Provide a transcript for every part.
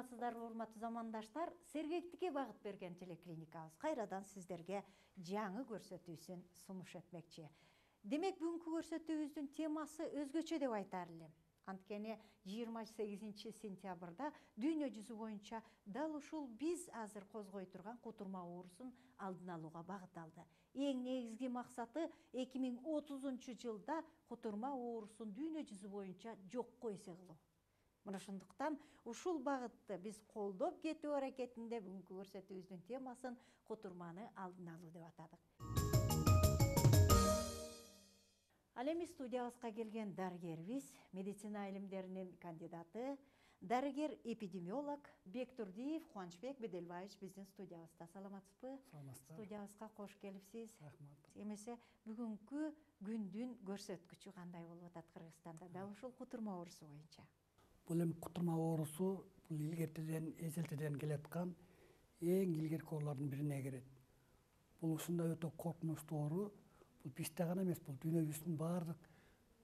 саламатсыздарбы урматтуу замандаштар? Сергектикке багыт берген телеклиникабыз кайрадан сиздерге жаңы көрсөтүүсүн сунуш этмекчи. Демек бүгүнкү көрсөтүүбүздүн темасы өзгөчө деп айтар элем. Анткени 28 сентябрда дүйнө жүзү боюнча дал ушул биз азыр козгой турган кутурма оорусун алдын алууга багытталды. Эң негизги максаты 2030 жылда кутурма оорусун дүйнө жүзү боюнча жокко эсе кылуу. Мына ошондуктан ушул багытты биз колдоп кетүү аракетинде бүгүнкү көрсөтүүбүздүн темасын кутурманы алдын алуу деп атадык. Ал эми студиябызга келген дарыгерибиз, медицина илимдеринин кандидаты, дарыгер-эпидемиолог Бектурдиев Кубанычбек Беделбаевич биздин студиябызда. Саламатсызбы? Саламатсыздар. Студиябызга кош келипсиз. Рахмат. Эмесе бүгүнкү күндүн көрсөткүчү кандай болуп атат Кыргызстанда? Дал ушул кутурма оорусу боюнча. Бул эми кутурма оорусу бул илгертеден, эзелтеден келаткан эң илгерки оорулардын бирине кирет. Бул ушундай өтө коркунучтуу оору. Бул бизде гана эмес, бул дүйнө жүзүнүн баардык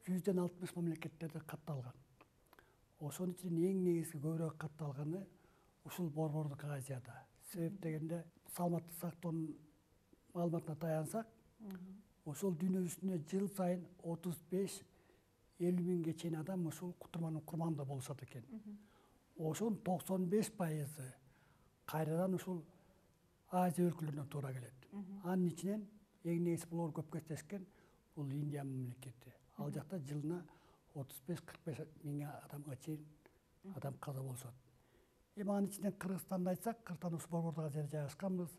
160 мамлекеттерде катталган. Ошонун ичинен эң негизги көбүрөөк катталганы ушул Борбордук Азияда. Себеп дегенде саламаттык сактоонун маалыматына таянсак, ошол дүйнө жүзүндө жыл сайын 35-50 миңге чейин адам ушул кутурманын курманында болушат экен. Ошонун 95% кайрадан ушул Азия өлкөлөрүнөн туура келет. Анын ичинен эң негизи булар көп кездешкен бул Индия мамлекети. Ал жакта жылына 35-45 миң адамга чейин адам каза болушат. Эми анын ичинен Кыргызстанды айтсак, Кыргызстан ушул Борбордук Азияда жайгашканбыз.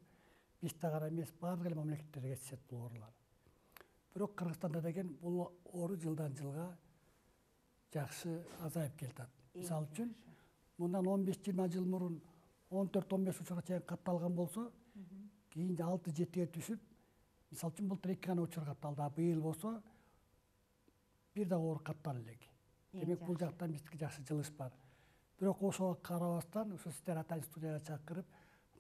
Бизде гана эмес, бардык эле мамлекеттерде кездешет бул оорулар. Бирок Кыргызстанда деген бул оору жылдан жылга жакшы азайып келатат. Мисалы үчүн, мындан 15-20 жыл мурун 14-15 учурга чейин катталган болсо, кийин 6-7-ге түшүп, мисалы үчүн былтыр 2 гана учур катталды, а быйыл болсо бир да оор каттала элек. Демек бул жактан биздики жакшы жылыш бар. Бирок ошого карабастан, ушу сиздер атайын студияга чакырып,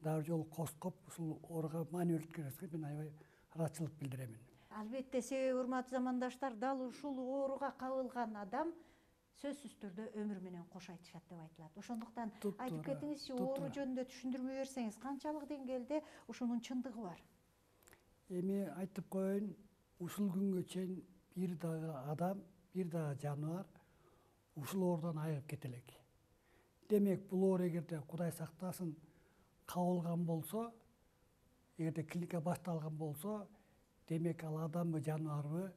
дагы жолу коскоп ушул ооруга маани берткениңизге мен аябай ыраазычылык билдиремин. Албетте, себеби урматтуу замандаштар, дал ушул ооруга кабылган адам сөзсүз түрдө өмүр менен кош айтышат деп айтылат. Ошондуктан айтып кетиңизчи, оору жөнүндө түшүндүрмө берсеңиз, канчалык деңгээлде ушунун чындыгы бар? Эми айтып коеюн, ушул күнгө чейин бир дагы адам, бир дагы жаныбар ушул оорудан айыгып кете элек. Демек, бул оору эгерде Кудай сактасын кабылган болсо, эгерде клиника башталган болсо, демек ал адамбы, жаныбарбы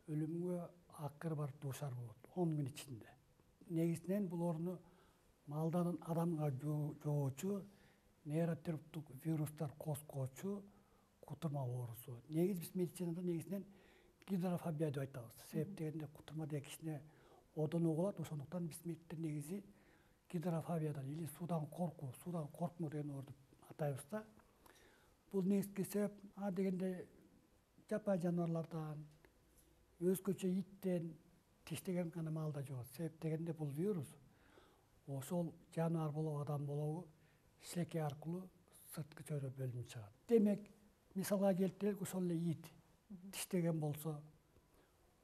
өлүмгө акыры барып дуушар болот 10 күн ичинде. Негизинен бул ооруну малдан адамга жугуучу нейротроптук вирустар козгоочу кутурма оорусу. Негизи биз медицинада негизинен гидрофобия деп айтабыз. Себеп дегенде кутурма деген кичине одон угулат, ошондуктан биз медиктер негизи гидрофобиядан или суудан коркмоо деген оору деп атайбыз да. Бул негизги себеп дегенде жапайы жаныбарлардан, өзгөчө иттен тиштеген гана малда жугат. Себеп дегенде бул вирус ошол жаныбар болобу, адам болобу, шилекей аркылуу сырткы чөйрө бөлүнүп чыгат. Демек, мисалга келтирелик, ошол эле ит тиштеген болсо,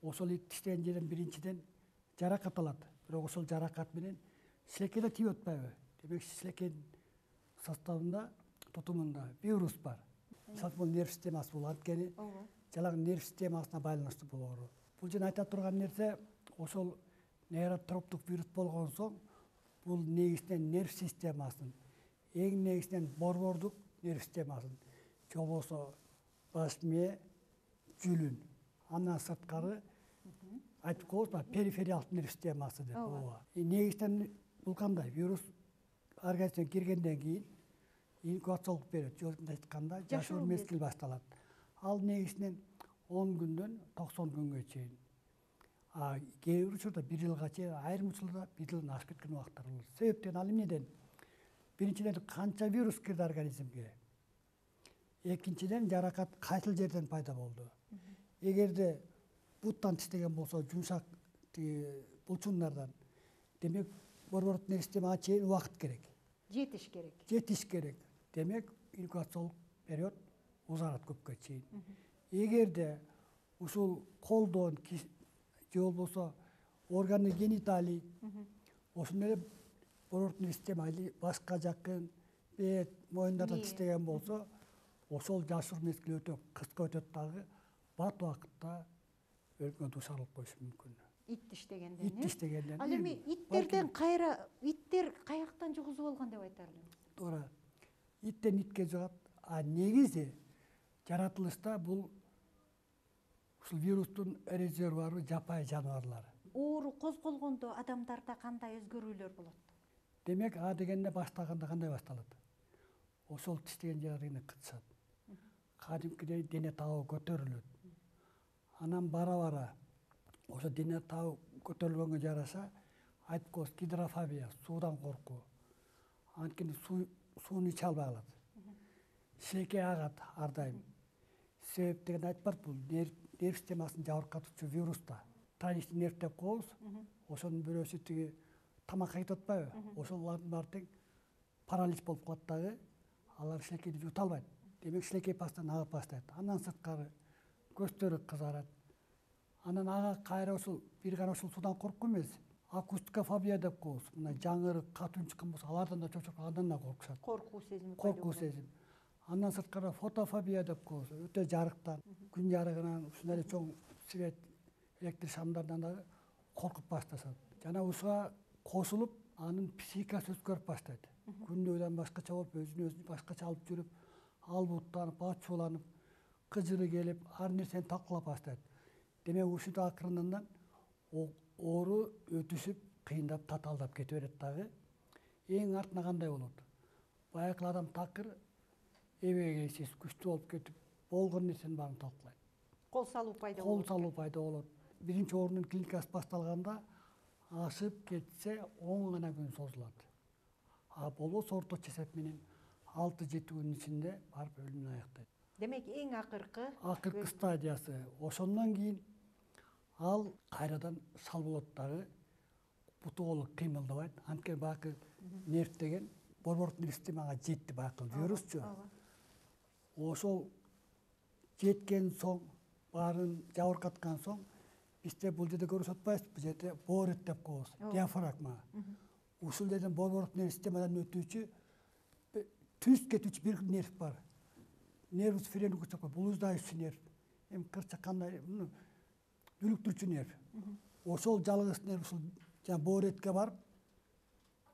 ошол ит тиштеген жерден биринчиден жаракат алат. Бирок ошол жаракат менен шилекейге тийип атпайбы? Демек, шилекейдин составында, тутумунда вирус бар. Мисалы бул нерв системасы бул, анткени жалаң нерв системасына байланыштуу бул оору. Бул жерде айта турган нерсе, ошол нейротроптук вирус болгон соң, бул негизинен нерв системасын, эң негизинен борбордук нерв системасын, же болбосо баш мээ, жүлүн, андан сырткары айтып коебузбу, перифериалдык нерв системасы деп. Негизинен бул кандай? Вирус организмге киргенден кийин инкубациялык период, жөнүндө айтканда, жашоо мезгили башталат. Ал негизинен 10 күндөн 90 күнгө чейин. Кээ бир учурда 1 жылга чейин, айрым учурларда 1 жылдан ашып кеткен убактар болот. Себептен ал эмнеден? Биринчиден канча вирус кирди организмге? Экинчиден жаракат кайсыл жерден пайда болду? Эгерде буттан тиштеген болсо, жумшак булчуңдардан, демек борбордук нерв системага чейин убакыт керек. Жетиш керек. Демек, инкубациялык период узарат көпкө чейин. Эгерде ушул колдон же болбосо органы гениталий ошондой эле борбордук система башка жакын бет моюндарда тиштеген болсо ошол жашыруу мезгили өтө кыска өтөт дагы бат убакытта өлүмгө дуушар болуп коюшу мүмкүн. Ит иштегенден. Ит иштегенден. Ал эми иттерден иттер каяктан жугузуп алган деп айтар элем? Туура. Иттен итке жугат. А негизи жаратылышта бул ушул вирустун резервуары жапайы жаныбарлар. Оору козголгондо адамдарда кандай өзгөрүүлөр болот? Демек, А дегенде баштаганда кандай башталат? Ошол тиштеген жерине кытышат. Кадимкидей дене табы көтөрүлөт. Анан бара ошо дене табы көтөрүлгөнгө жараша айтып коебуз гидрофобия, суудан коркуу. Анткени сууну иче албай калат. Шилекей агат ар дайым. Себеп деген айтып барып, бул нерв системасын жабыркатуучу вирус да. Траничный нерв деп коебуз. Ошонун бирөөсү тиги тамакка кетип атпайбы? Ошолардын баары тең паралич болуп калат дагы. Алар шилекейди жута албайт. Демек, шилекей постоянно агып баштайт. Андан сырткары көздөрү кызарат. Анан ага кайра ушул бир гана ушул суудан коркуу эмес, акустикофобия деп коебуз. Мына жаңырык, кат үн чыккан болсо, алардан да чочуп андан да коркушат. Коркуу сезими. Коркуу сезим. Андан сырткары фотофобия деп коебуз. Өтө жарыктан, күн жарыгынан, ушундай чоң свет, электр шамдардан дагы коркуп башташат. Жана ушуга кошулуп, анын психикасы өзгөрүп баштайт. Күндөгүдөн башкача болуп, өзүн башкача алып жүрүп, албуттанып, ачууланып, кыжыры келип, ар нерсени талкалап баштайт. Демек, ушинтип акырындан оору өтүшүп, кыйындап, татаалдап кете берет дагы. Эң артына кандай болот? Баягы адам такыр эбегейсиз, күчтүү болуп кетип, болгон нерсенин баарын талкалайт. Кол салуу пайда болот. Кол салуу пайда болот. Биринчи оорунун клиникасы башталганда ашып кетсе 10 гана күн созулат. А болбосо орточо эсеп менен 6-7 күнүн ичинде барып өлүмүн аяктайт. Демек, эң акыркы стадиясы. Ошондон кийин ал кайрадан шал болот дагы, буту колу кыймылдабайт. Анткени баягы нерв деген борбордук системага жетти, баягы вирусчу. Ошол жеткен соң, баарын жабыркаткан соң, бизде бул жерде көрүп атпайбызбы? Бул жерде боорет деп коебуз, диафрагма. Ушул жерден борбордук нерв системадан өтүүчү, түз кетүүчү бир нерв бар. Нервус френикус деп коебуз, блуждающий нерв. Эми кырча кандай, дүлүктүрчү нерв. Ошол жалгыз нерв ушул жана бооретке барып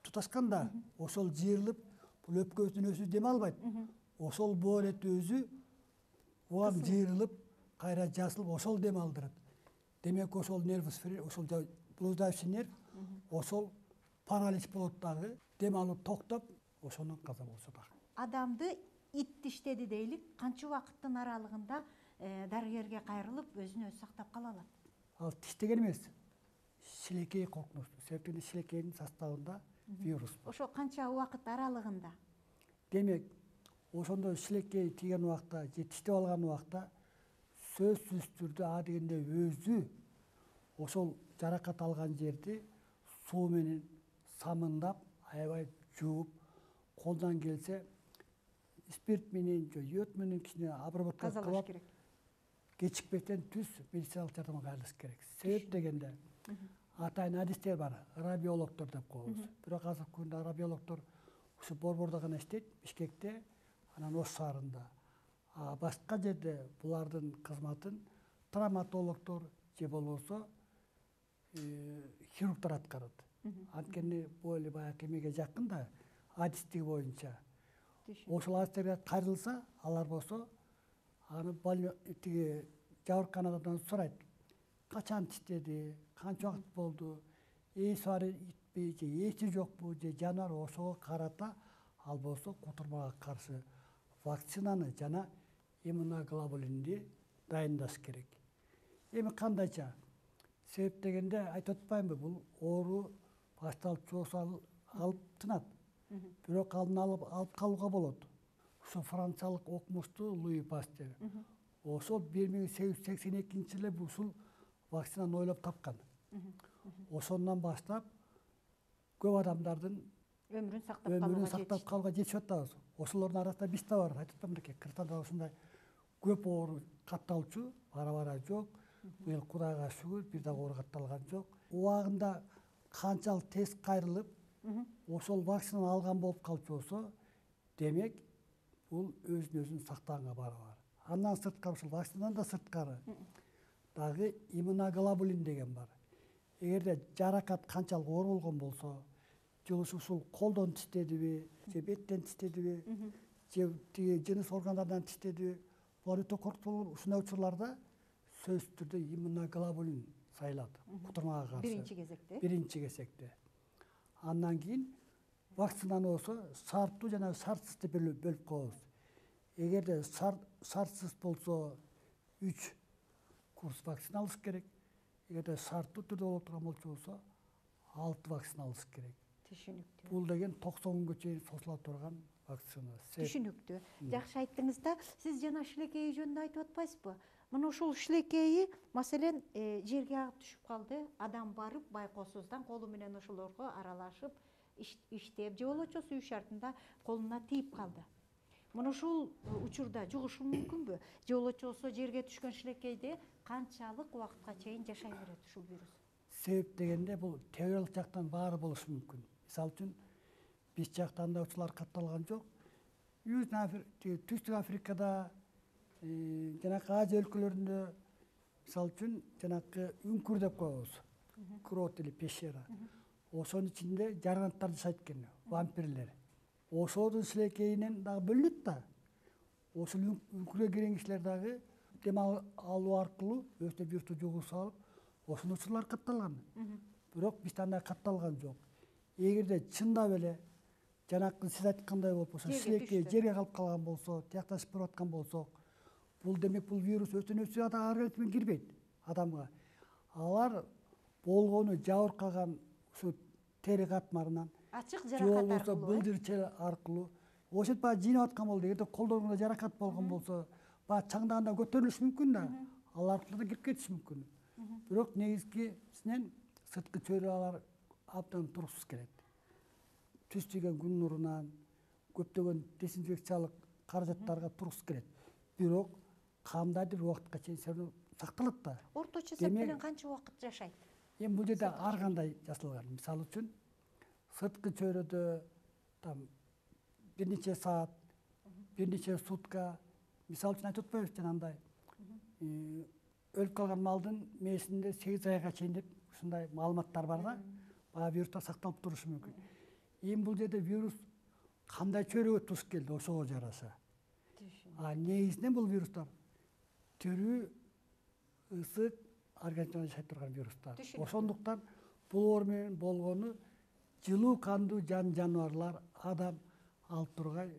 туташканда, ошол жыйрылып, бул өпкөсүнүн өзү дем албайт. Ошол боорет өзү улам жыйрылып, кайра жасылып, ошол дем алдырат. Демек, ошол нервус френикус, ошол блуждающий нерв, ошол паралич болот дагы, дем алуу токтоп, ошондон каза болушат. Адамды ит тиштеди дейлик, канча убакыттын аралыгында дарыгерге кайрылып, өзүн өзү сактап кала алат? Ал тиштеген эмес, шилекей коркунучтуу. Себептен шилекейдин составында вирус бар. Ошо канча убакыт аралыгында? Демек, ошондо шилекей тийген убакта же тиштеп алган убакта сөзсүз түрдө А дегенде өзү ошол жаракат алган жерди суу менен самындап, аябай жууп, колдон келсе спирт менен же йод менен кичине обработка кылып, керек. Кечикпестен түз медициналык жардамга кайрылыш керек. Себеп дегенде атайын адистер бар, радиологдор деп коебуз. Бирок азыркы күндө радиологдор ушу борбордо гана иштейт, Бишкекте, анан Ош шаарында. А башка жерде булардын кызматын травматологдор же болбосо хирургдар аткарат. Анткени бул эле баягы эмеге жакын да, адистиги боюнча. Ошол адистерге кайрылса, алар болсо аны тиги жабырканадан сурайт. Качан тиштеди, канча убакыт болду, ээси бар итпи же ээси жокпу же жаныбар, ошого карата ал болсо кутурмага каршы вакцинаны жана иммуноглобулинди дайындаш керек. Эми кандайча? Себеп дегенде айтып атпаймынбы, бул оору башталып чоосу алып тынат. Бирок алдын алып калууга болот. Ушу франциялык окумуштуу Луи Пастер. Ошол 1882-жылы ушул вакцинаны ойлоп тапкан. Ошондон баштап көп адамдардын өмүрүн сактап калууга жетишип атабыз. Ошолордун арасында биз да бар. Айтып атпаймынбы, Кыргызстанда ушундай көп оору катталчу, бара жок. Быйыл Кудайга шүгүр, бир дагы оору катталган жок. Убагында канчалык тез кайрылып, ошол вакцинаны алган болуп калчу болсо, демек бул өзүн сактаганга барабар. Андан сырткары, ушул вакцинадан да сырткары дагы иммуноглобулин деген бар. Эгерде жаракат канчалык оор болгон болсо, же ушул колдон тиштедиби, же беттен тиштедиби, же тиги жыныс органдарынан тиштедиби, булар өтө коркутуу. Ушундай учурларда сөзсүз түрдө иммуноглобулин сайылат кутурмага каршы. Биринчи кезекте. Андан кийин вакцинаны болсо шарттуу жана шартсыз деп бөлүп коебуз. Эгерде шартсыз болсо 3 курс вакцина алыш керек. Эгерде шарттуу түрдө боло турган болсо 6 вакцина алыш керек. Түшүнүктүү. Бул деген 90 күнгө чейин созула турган вакцина. Түшүнүктүү. Жакшы айттыңыз да, сиз жана шилекейи жөнүндө айтып атпайсызбы? Мына ушул шилекейи, маселен, жерге агып түшүп калды, адам барып байкоосуздан колу менен ошолорго аралашып, иштеп, же болбочу үй шартында колуна тийип калды. Мына ушул учурда жугушу мүмкүнбү? Же болбочу жерге түшкөн шилекейде канчалык убакытка чейин жашай берет ушул вирус? Себеп дегенде бул теориялык жактан баары болушу мүмкүн. Мисалы үчүн биз жакта андай учурлар катталган жок. Түштүк Африкада, жанакы Азия өлкөлөрүндө, мисалы үчүн жанакы үңкүр деп коебуз. Крот или пещера. Ошонун ичинде жарганттар жашайт экен, вампирлер. Ошонун шилекейинен дагы бөлүнөт да. Ошол үңкүргө кирген кишилер дагы дем алуу аркылуу өзүнө вирусту жугуп алып, ошол учурлар катталган. Бирок бизде андай катталган жок. Эгерде чындап эле жанакы сиз айткандай болуп ошо шилекей жерге калып калган болсо, тиякташып барып аткан болсок, бул демек бул вирус өтө организмге кирбейт адамга. Алар болгону жабыркаган ушу тери катмарынан, ачык жаракат аркылуу, былдырчы аркылуу, ошентип баягы жыйнап аткан болду. Эгерде колдоруңда жаракат болгон болсо, баягы чаңдаганда көтөрүлүшү мүмкүн да, ал аркылуу да кирип кетиши мүмкүн. Бирок негизгисинен сырткы чөйрөлөр абдан туруксуз келет. Түз тийген күн нурунан, көптөгөн дезинфекциялык каражаттарга туруксуз келет. Бирок кандайдыр бир убакытка чейин сакталат да. Орточо эсеп менен канча убакыт жашайт? Эми бул жерде ар кандай жасалган. Мисалы үчүн сырткы чөйрөдө бир нече саат, бир нече сутка, мисалы үчүн айтып атпайбызбы жанагындай өлүп калган малдын мээсинде 8 айга чейин деп ушундай маалыматтар бар да. Баягы вирустар сакталып турушу мүмкүн. Эми бул жерде вирус кандай чөйрөгө туш келди, ошого жараша. Негизинен бул вирустар тирүү, ысык организмде жашай турган вирустар. Ошондуктан булар менен болгону жылуу кандуу жаныбарлар, адам алып тургай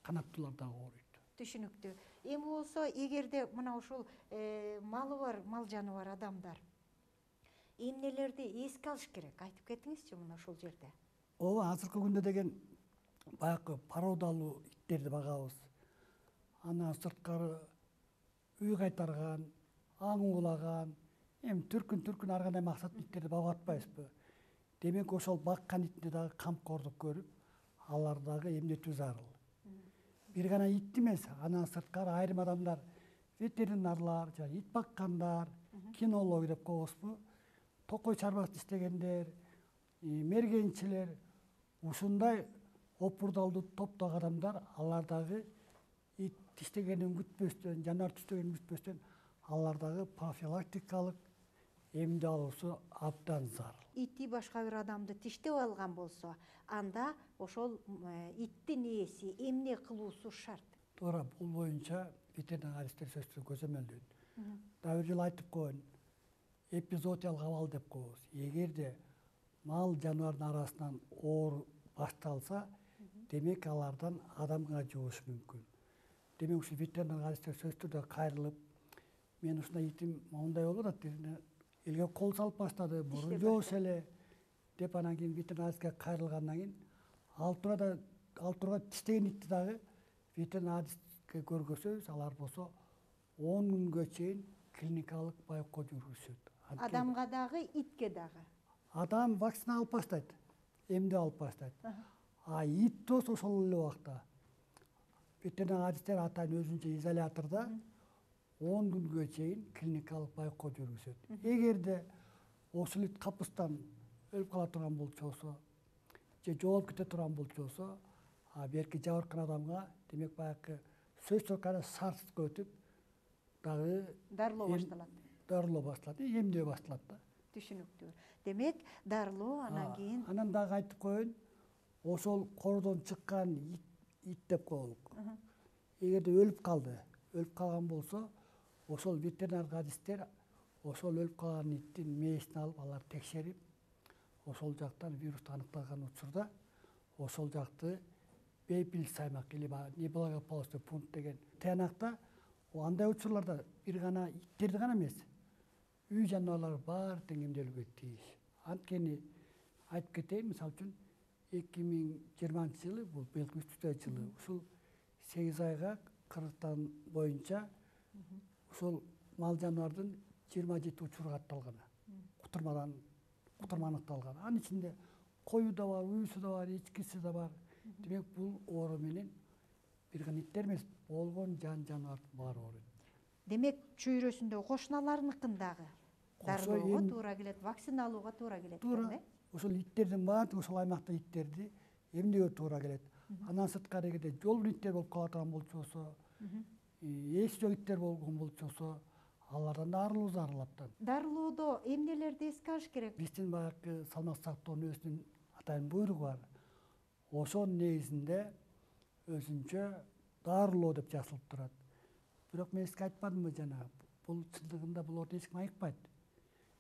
канаттуулар дагы ооруйт. Түшүнүктүү. Эми болсо, эгерде мына ушул малы бар, мал жаны бар адамдар эмнелерди эске алыш керек? Айтып кетиңизчи мына ушул жерде. Ооба, азыркы күндө деген баягы породалуу иттерди багабыз. Андан сырткары үй кайтарган, аң уулаган, эми түркүн ар кандай максаттуу иттерди багып атпайбызбы? Демек ошол баккан итинде дагы камкордук көрүп, алар дагы эмдетүү зарыл. Бир гана итти эмес, андан сырткары айрым адамдар, ветеринарлар, ит баккандар, кинология деп коебузбу, токой чарбасын иштегендер, мергенчилер, ушундай опурдалдуу топтогу адамдар, алар дагы ит тиштегенин күтпөстөн, жаныбар тиштегенин күтпөстөн, алар дагы профилактикалык эмди алуусу абдан зарыл. Ити башка бир адамды тиштеп алган болсо, анда ошол иттин ээси эмне кылуусу шарт? Туура, бул боюнча ветеринаристтер сөзсүз көзөмөлдөйт. Дагы бир жолу айтып коеюн, эпизоотиялык абал деп коебуз. Эгерде мал жаныбардын арасынан оору башталса, демек алардан адамга жугушу мүмкүн. Демек ушул ветеринаристтер сөзсүз түрдө кайрылып, мен ушундай итим мондай болуп атат, элге кол салып баштады, мурун жоош эле деп анан кийин ветеринаристке кайрылгандан кийин ал турга тиштеген итти дагы ветеринаристке көргөзөбүз, алар болсо 10 күнгө чейин клиникалык байкоо жүргүзүшөт. Адамга дагы, итке дагы. Адам вакцина алып баштайт, эмди алып баштайт. Ит болсо ошол эле убакта ветеринаристтер атайын өзүнчө изолятордо 10 күнгө чейин клиникалык байкоо жүргүзөт. Эгерде ошол ит капыстан өлүп кала турган болчу болсо, же жоолуп кете турган болчусу, берки жабыркан адамга демек баягы сөз кайра сарсызга өтүп дагы дарылоо башталат. Дарылоо башталат, эмдөө башталат да. Түшүнүктүү. Демек дарылоо анан кийин Анан дагы айтып коеюн, ошол кордон чыккан ит деп коелук. Эгерде өлүп калган болсо, ошол ветеринардык адистер ошол өлүп калган иттин мээсин алып, алар текшерип, ошол жактан вирус аныкталган учурда ошол жакты бейпиликтүү аймак или неблагополучный пункт деген таянакта, андай учурларда бир гана иттерди гана эмес, үй жаныбарлары баары тең эмделүүгө тийиш. Анткени айтып кетейин, мисалы үчүн 2020-жылы, бул быйылкы 3 жылы, ушул 8 айга Кыргызстан боюнча ушул мал жаныбардын 27 учуру катталган. Кутурма аныкталган. Анын ичинде кою да бар, уюсу да бар, эчкиси да бар. Демек бул оору менен бир гана иттер эмес, болгон жаныбардын баары ооруйт. демек чөйрөсүндө кошуналарыныкын дагы дарылоого туура келет, вакцина алууга туура келет экен, э? Ошол иттердин баардыгы, ошол аймакта иттерди эмдөөгө туура келет. Андан сырткары эгерде жолбун иттер болуп кала турган болчусу, ээси жок иттер болгон болчусу, алардан да арылуу зарыл абдан. Дарылоодо эмнелерди эске алыш керек? Биздин баягы салмак сактоонун өзүнүн атайын буйругу бар. Ошонун негизинде өзүнчө дарылоо деп жазылып турат. Бирок мен сизге айтпадымбы жана, бул чындыгында буларды эч ким айыкпайт.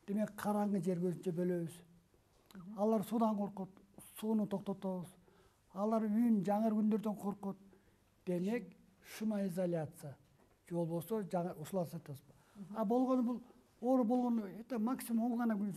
Демек караңгы жерге өзүнчө бөлөбүз. Алар суудан коркот, сууну токтотобуз. Алар үйүн жаңыр күндөрдөн коркот. Демек шумоизоляция же болбосо ушуларды сатабыз. Болгону бул оору болгону максимум 10 гана күн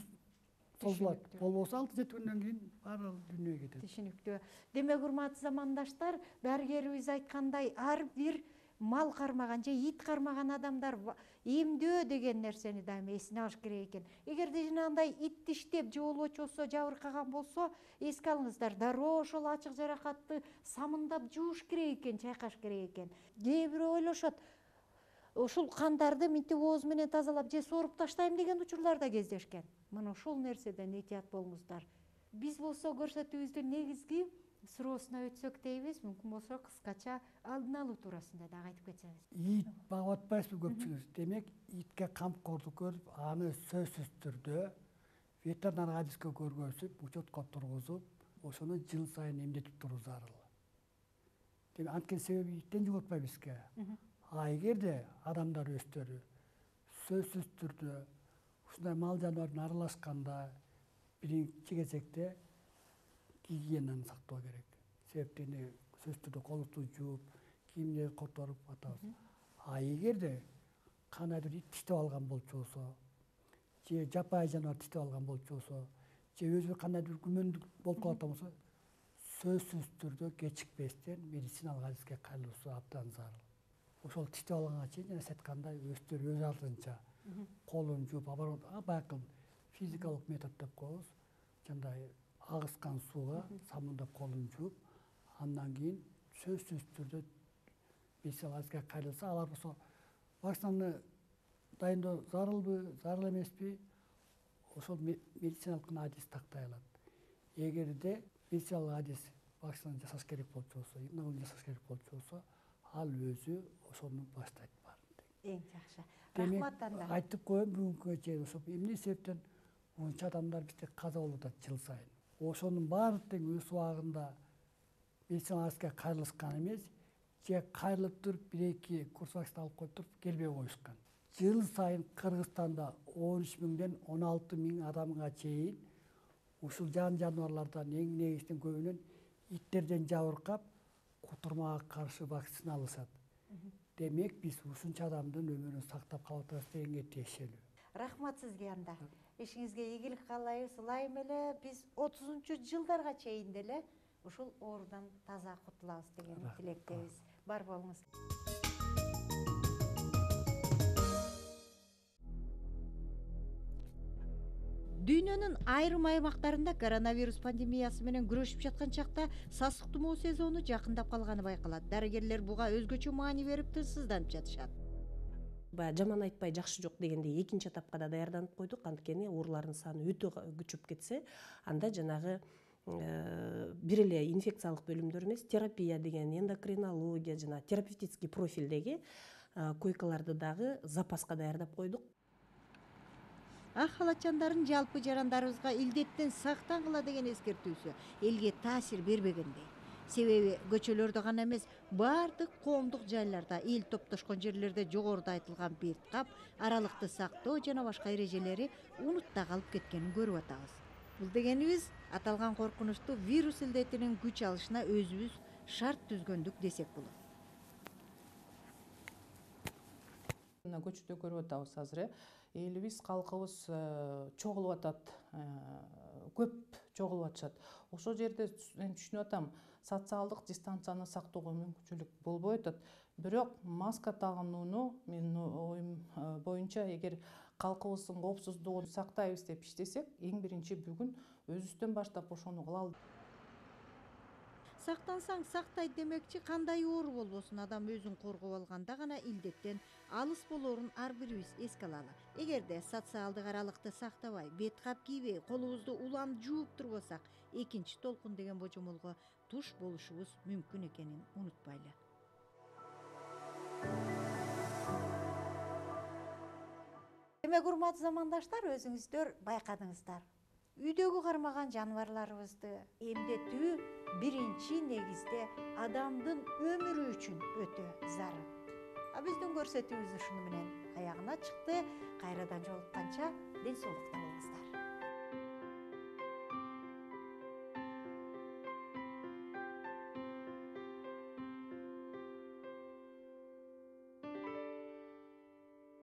созулат. Болбосо 6-7 күндөн кийин баары дүйнөгө кетет. Түшүнүктүү. Демек урматтуу замандаштар, дарыгерибиз айткандай, ар бир мал кармаган же ит кармаган адамдар эмдөө деген нерсени дайыма эсине алыш керек экен. Эгерде жанагындай ит диштеп же болбочосо жабыркаган болсо, эске алыңыздар, дароо ошол ачык жаракатты самындап жууш керек экен, чайкаш керек экен. Кээ бирөө ойлошот, ушул кандарды мынтип ооз менен тазалап же сооруп таштайм деген учурлар да кездешкен. Мына ушул нерседен этият болуңуздар. Биз болсо көрсөтүүбүздүн негизги суроосуна өтсөк дейбиз, мүмкүн болсо кыскача алдын алуу туурасында дагы айтып кетсеңиз. Ит багып атпайсызбы көпчүлүгүз? Демек, итке камкордук көрүп, аны сөзсүз түрдө ветеринар адиске көргөзүп, учетко тургузуп, ошону жыл сайын эмдетип туруу зарыл. Демек, анткени себеби иттен жугатпайбы бизге. Эгерде адамдар өздөрү сөзсүз түрдө ушундай мал жаныбардын аралашканда биринчи кезекте гигиенаны сактоо керек. Себептени сөзсүз түрдө колубузду жууп, кийимди которуп атабыз. Эгерде кандайдыр ит тиштеп алган болчусу, же жапайы жаныбар тиштеп алган болчусу, же өзү кандайдыр күмөндүк болуп калат болсо, сөзсүз түрдө кечикпестен медициналык адиске кайрылуусу абдан зарыл. Ошол тиштеп алганга чейин жана сиз айткандай өздөрү өз алдынча колун жууп, баягы физикалык метод деп коебуз. Жандай агыскан сууга самындап колун жууп, андан кийин сөзсүз түрдө медициналык адиске кайрылса, алар болсо вакцинаны дайындоо зарылбы, зарыл эмеспи, ошол медициналык адис тактай алат. Эгерде медициналык адис вакцинаны жасаш керек болчусу, эмне жасаш керек болчусу, ал өзү ошону баштайт баарын. Эң жакшы. Рахмат анда. Айтып коеюн, бүгүнкүгө чейин ошо эмне себептен ушунча адамдар бизде каза болуп атат жыл сайын. Ошонун баары тең өз убагында медициналык адиске кайрылышкан эмес, же кайрылып туруп бир-эки курс вакцина алып коюп туруп келбей коюшкан. Жыл сайын Кыргызстанда 13.000-ден 16.000 адамга чейин ушул жаныбарлардан эң негизинен көбүнөн иттерден жабыркап, кутурмага каршы вакцина алышат. Демек, биз ушунча адамдын өмүрүн сактап калып атабыз дегенге тиешелүү. Рахмат сизге анда. Ишиңизге ийгилик каалайбыз. Ылайым эле биз 30-жылдарга чейин деле ушул оорудан таза кутулабыз деген тилектебиз. Бар болуңуз. Дүйнөнүн айрым аймактарында коронавирус пандемиясы менен күрөшүп жаткан чакта сасык тумоо сезону жакындап калганы байкалат. Дарыгерлер буга өзгөчө маани берип тынчсызданып жатышат. Баягы жаман айтпай жакшы жок дегендей экинчи этапка да даярданып койдук. Анткени оорулардын саны өтө күчөп кетсе, анда жанагы бир эле инфекциялык бөлүмдөр эмес, терапия деген, эндокринология жана терапевтический профилдеги койкаларды дагы запаска даярдап койдук. Ак халатчандардын жалпы жарандарыбызга илдеттен сактангыла деген эскертүүсү элге таасир бербегендей. Себеби көчөлөрдө гана эмес, баардык коомдук жайларда, эл топтошкон жерлерде жогоруда айтылган бет кап, аралыкты сактоо жана башка эрежелери унутта калып кеткенин көрүп атабыз. Бул дегенибиз аталган коркунучтуу вирус илдетинин күч алышына өзүбүз шарт түзгөндүк десек болот. Мына көчөдө көрүп атабыз азыр, элибиз, калкыбыз чогулуп атат, көп чогулуп атышат. Ошол жерде мен түшүнүп атам, социалдык дистанцияны сактоого мүмкүнчүлүк болбой атат. Бирок маска тагынууну менин оюм боюнча, эгер калкыбыздын коопсуздугун сактайбыз деп иштесек, эң биринчи бүгүн өзүбүздөн баштап ошону кылалы. Сактансаң сактай демекчи, кандай оору болбосун, адам өзүн коргоп алганда гана илдеттен алыс болоорун ар бирибиз эске алалы. Эгерде социалдык аралыкты сактабай, бет кап кийбей, колубузду улам жууп турбасак, экинчи толкун деген божомолго туш болушубуз мүмкүн экенин унутпайлы. Демек, урматтуу замандаштар, өзүңүздөр байкадыңыздар. Үйдөгү кармаган жаныбарларыбызды эмдетүү биринчи негизде адамдын өмүрү үчүн өтө зарыл. Биздин көрсөтүүбүз ушуну менен аягына чыкты. Кайрадан жолукканча ден соолукта болуңуздар.